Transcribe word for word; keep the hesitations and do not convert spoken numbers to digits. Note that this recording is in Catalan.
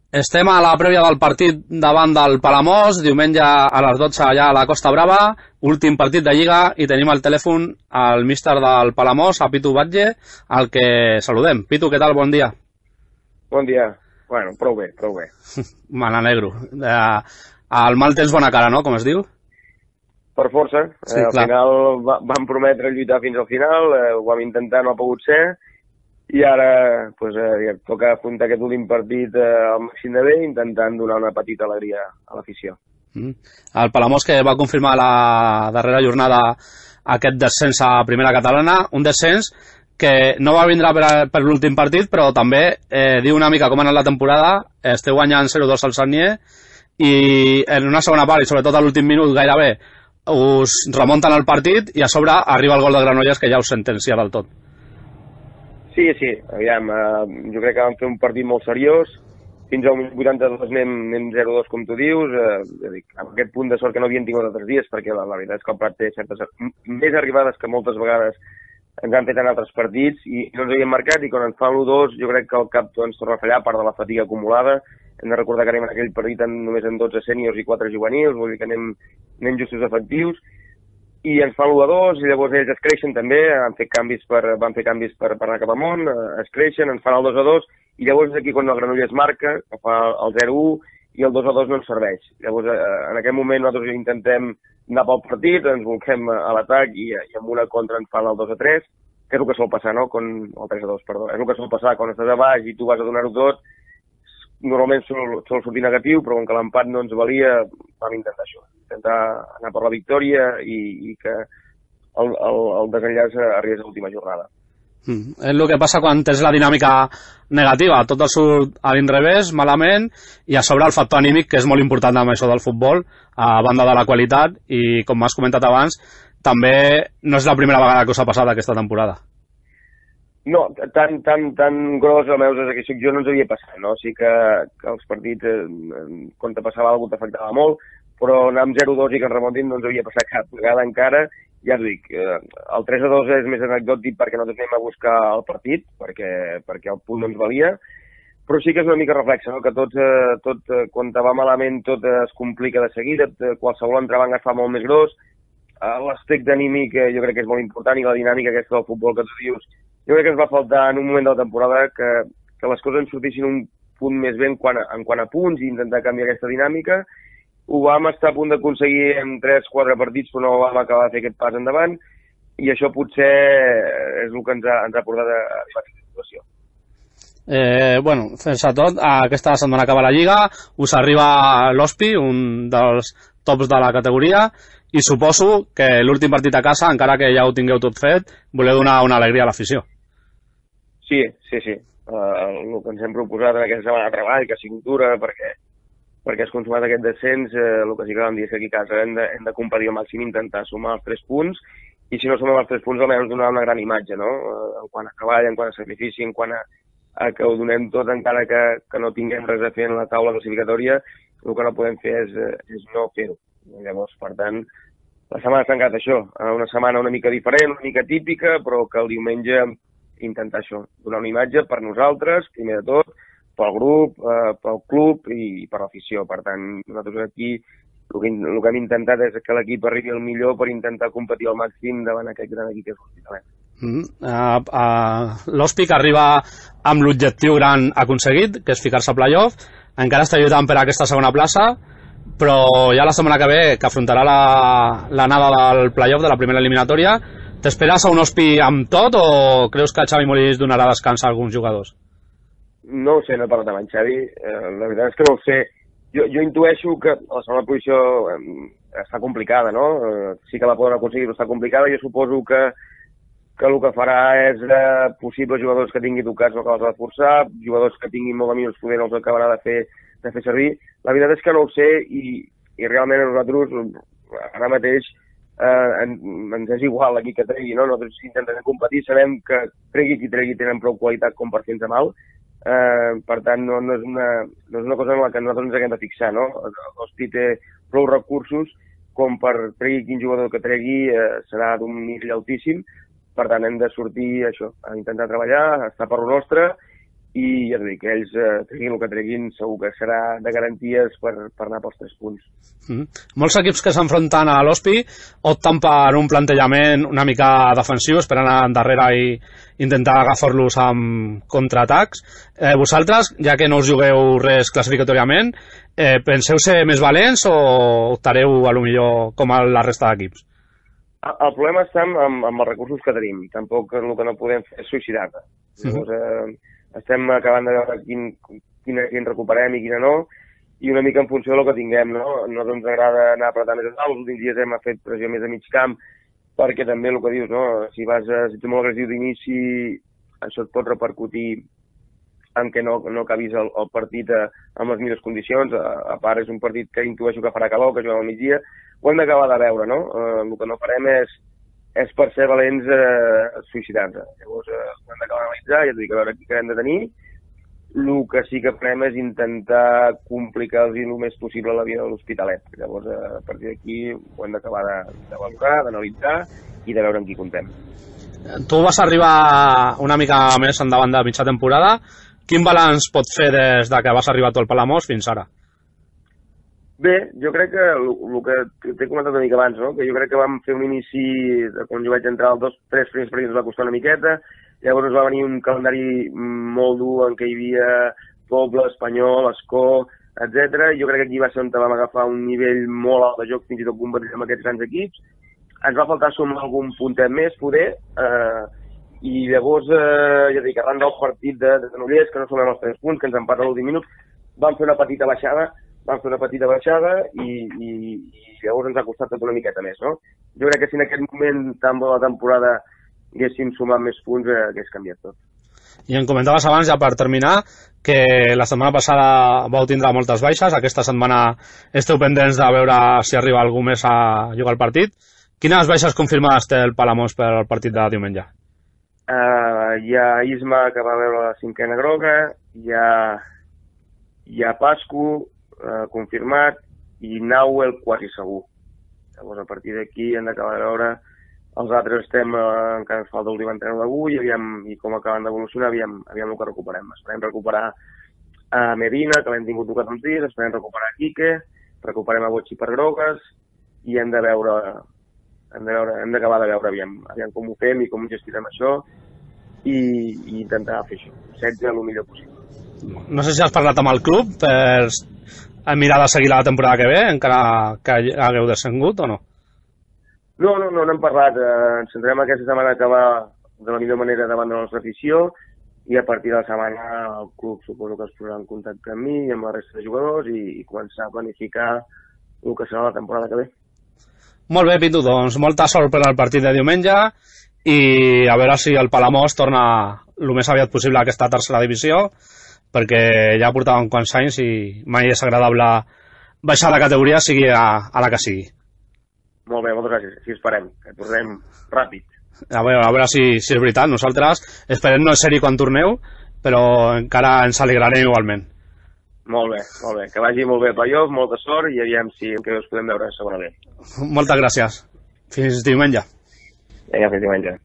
Estem a la prèvia del partit davant del Palamós, diumenge a les dotze allà a la Costa Brava, últim partit de Lliga, i tenim al telèfon el míster del Palamós, a Pitu Batlle, al que saludem. Pitu, què tal? Bon dia. Bon dia. Bueno, prou bé, prou bé. Me n'alegro. El mal tens bona cara, no?, com es diu? Per força. Sí, eh, al clar. final va, vam prometre lluitar fins al final, eh, ho vam intentar, no ha pogut ser, i ara pues, eh, toca afrontar aquest últim partit eh, al màxim de bé, intentant donar una petita alegria a l'afició. Mm. El Palamós, que va confirmar la darrera jornada aquest descens a primera catalana, un descens que no va vindre per, per l'últim partit, però també eh, diu una mica com ha anat la temporada. Esteu guanyant zero dos al Sagnier i en una segona part, i sobretot a l'últim minut gairebé, us remunten el partit i a sobre arriba el gol de Granollers, que ja us sentencia del tot. Sí, sí, aviam, eh, jo crec que vam fer un partit molt seriós, fins al vuitanta-dos anem, anem zero dos, com tu dius, eh, dic, amb aquest punt de sort que no havíem tingut altres dies, perquè la, la veritat és que el Prat té certes més arribades que moltes vegades ens han fet en altres partits, i no ens havíem marcat, i quan ens fan l'u dos jo crec que el cap ens torna a fallar, a part de la fatiga acumulada. Hem de recordar que anem en aquell partit en, només en dotze sèniors i quatre juvenils, vull dir que anem, anem justos efectius, i ens fan l'u a dos, i llavors ells es creixen també, han fet canvis per, van fer canvis per, per anar cap amunt, es creixen, ens fan el dos a dos, i llavors és aquí quan el Granollers marca, que fa el zero a u, i el dos a dos no ens serveix. Llavors, en aquest moment nosaltres intentem anar pel partit, ens volquem a l'atac, i, i amb una contra ens fan el dos a tres, que és el que sol passar, no? Con, el tres a dos, perdó. És el que sol passar, quan estàs a baix i tu vas a donar-ho tot, normalment sol, sol sortir negatiu, però com que l'empat no ens valia, vam intentar això, intentar anar per la victòria i, i que el, el, el desenllaç arribés a l'última jornada. Mm. És el que passa quan tens la dinàmica negativa, tot et surt a l'inrevés, malament, i a sobre el factor anímic, que és molt important amb això del futbol, a banda de la qualitat, i com m'has comentat abans, també no és la primera vegada que us ha passat aquesta temporada. No, tan, tan, tan gros, almenys des que soc jo, no ens havia passat, no? Sí que, que els partits, eh, quan te passava alguna cosa t'afectava molt, però anar amb zero a dos i que ens remuntin no ens havia passat cap vegada encara. Ja us dic, eh, el tres a dos és més anecdòtic perquè nosaltres anem a buscar el partit, perquè, perquè el punt no ens valia, però sí que és una mica reflexa, no? Que tot, eh, tot eh, quan te va malament tot eh, es complica de seguida, eh, qualsevol entrebanc es fa molt més gros, eh, l'aspecte anímic eh, jo crec que és molt important, i la dinàmica aquesta del futbol que tu dius, jo crec que ens va faltar en un moment de la temporada que, que les coses ens sortissin un punt més bé en quant a, en quant a punts, i intentar canviar aquesta dinàmica. Ho vam estar a punt d'aconseguir en tres quatre partits, però no vam acabar de fer aquest pas endavant, i això potser és el que ens ha, ens ha portat a arribar a aquesta situació. Eh, bueno, sense tot, aquesta setmana acaba la Lliga, us arriba l'Hospi, un dels tops de la categoria, i suposo que l'últim partit a casa, encara que ja ho tingueu tot fet, voleu donar una alegria a l'afició. Sí, sí, sí. Uh, el que ens hem proposat en aquesta setmana de treball, que ha sigut dura, perquè, perquè has consumat aquest descens, eh, el que sí que vam dir és que aquí a casa hem de, hem de competir al màxim, intentar sumar els tres punts, i si no sumem els tres punts almenys donar una gran imatge, no? Uh, en quant a treball, en quant a sacrifici, en quant a, a que ho donem tot, encara que, que no tinguem res a fer en la taula classificatòria, el que no podem fer és, és no fer-ho. Llavors, per tant, la setmana s'ha tancat això, una setmana una mica diferent, una mica típica, però que el diumenge intentar això, donar una imatge per nosaltres, primer de tot, pel grup, eh, pel club i per l'afició. Per tant, nosaltres aquí el que, el que hem intentat és que l'equip arribi al millor per intentar competir al màxim davant aquest gran equip que és l'Hospitalet. Mm. Uh, uh, L'Hòspic arriba amb l'objectiu gran aconseguit, que és ficar-se a playoff, encara està lluitant per aquesta segona plaça, però ja la setmana que ve, que afrontarà l'anada la del playoff de la primera eliminatòria, t'esperes a un Hospi amb tot, o creus que Xavi Molins donarà descans a alguns jugadors? No ho sé, no he parlat amb en Xavi, eh, la veritat és que no ho sé. Jo, jo intueixo que la segona posició eh, està complicada, no? Eh, sí que la poden aconseguir, però està complicada. Jo suposo que, que el que farà és eh, possibles jugadors que tingui tocats no acabar de forçar, jugadors que tinguin molt de minuts poder no els acabarà de fer, de fer servir. La veritat és que no ho sé, i, i realment a nosaltres ara mateix Eh, en, ens és igual aquí que tregui, no? Nosaltres intentem competir, sabem que tregui qui tregui tenen prou qualitat com per fer-nos mal, eh, per tant no, no, és una, no és una cosa en la que nosaltres ens haguem de fixar, no? L'Hospi té prou recursos com per tregui quin jugador que tregui eh, serà d'un nivell altíssim, per tant hem de sortir això, a intentar treballar, a estar per lo nostre, i ja t'ho dic, ells eh, treguin el que treguin segur que serà de garanties per, per anar pels tres punts. Mm. Molts equips que s'enfronten a l'Hospi opten per un plantejament una mica defensiu, esperant endarrere i intentar agafar-los amb contraatacs. Eh, vosaltres, ja que no us jugueu res classificatòriament, eh, penseu ser més valents o optareu a lo millor com a la resta d'equips? El problema està amb, amb, amb els recursos que tenim. Tampoc el que no podem fer és suïcidar-te. Llavors, eh, estem acabant de veure quin, quina gent recuperem i quina no, i una mica en funció del que tinguem, no? No ens agrada anar apretant més a dalt. Els últims dies hem fet pressió més a mig camp, perquè també el que dius, no? Si vas a, si ets molt agressiu d'inici, això et pot repercutir en què no, no acabis el, el partit a, amb les millors condicions. A, a part, és un partit que intueixo que farà calor, que juguem al migdia. Ho hem d'acabar de veure, no? Eh, el que no farem és, és per ser valents eh, suïcidar-nos. Llavors, eh, ho hem d'acabar d'analitzar, ja t'ho dic, a veure què hem de tenir. El que sí que farem és intentar complicar-los el més possible la vida de l'Hospitalet. Llavors, eh, a partir d'aquí ho hem d'acabar de, de valorar, d'analitzar i de veure amb qui contem. Tu vas arribar una mica més endavant de mitja temporada. Quin balanç pots fer des de que vas arribar tu al Palamós fins ara? Bé, jo crec que el que t'he comentat una mica abans, no? Que jo crec que vam fer un inici, quan jo vaig entrar, els dos, tres primers partits ens va costar una miqueta, llavors ens va venir un calendari molt dur en què hi havia Poble, Espanyol, Escó, etcètera. Jo crec que aquí va ser on vam agafar un nivell molt alt de joc, fins i tot competir amb aquests grans equips. Ens va faltar sumar algun puntet més, poder, eh, i llavors, eh, ja dic, arran del partit de, de Granollers, que no sumem els tres punts, que ens empata a l'últim minut, vam fer una petita baixada, vam fer una petita baixada i, i, i llavors ens ha costat tot una miqueta més, no? Jo crec que si en aquest moment tan bona temporada haguéssim sumat més punts, eh, hagués canviat tot. I em comentaves abans, ja per terminar, que la setmana passada vau tindre moltes baixes, aquesta setmana esteu pendents de veure si arriba algú més a jugar el partit. Quines baixes confirmades té el Palamós per al partit de diumenge? Uh, hi ha Isma, que va veure la cinquena groga, hi ha, hi ha Pascu, Uh, confirmat, i Nauel quasi segur. Llavors, a partir d'aquí hem d'acabar de veure. Els altres estem, uh, encara ens falta l'últim entrenador d'avui, i, aviam, i com acaben d'evolucionar, aviam, aviam el que recuperem. Esperem recuperar a Medina, que l'hem tingut tocat uns dies, esperem recuperar a Quique, recuperem a Botxi per grogues, i hem de veure, hem de veure, hem d'acabar de veure aviam, aviam com ho fem i com gestionem això, i, i intentar fer això, setze el millor possible. No sé si has parlat amb el club per mirar de seguir la temporada que ve, encara que hagueu descengut o no? No, no, no n'hem parlat. Eh, ens centrem aquesta setmana a acabar de la millor manera davant de la nostra afició, i a partir de la setmana el club suposo que es posarà en contacte amb mi i amb la resta de jugadors i, i començar a planificar el que serà la temporada que ve. Molt bé, Pitu, doncs molta sort per al partit de diumenge i a veure si el Palamós torna el més aviat possible a aquesta tercera divisió, perquè ja portàvem quants anys i mai és agradable baixar la categoria, sigui a, a la que sigui. Molt bé, moltes gràcies. Així esperem, que tornem ràpid. A veure, a veure si, si és veritat. Nosaltres esperem no ser-hi quan torneu, però encara ens alegrarem igualment. Molt bé, molt bé. Que vagi molt bé el playoff, molta sort, i aviam si que us podem veure a segona B. Moltes gràcies. Fins diumenge. Vinga, fins diumenge.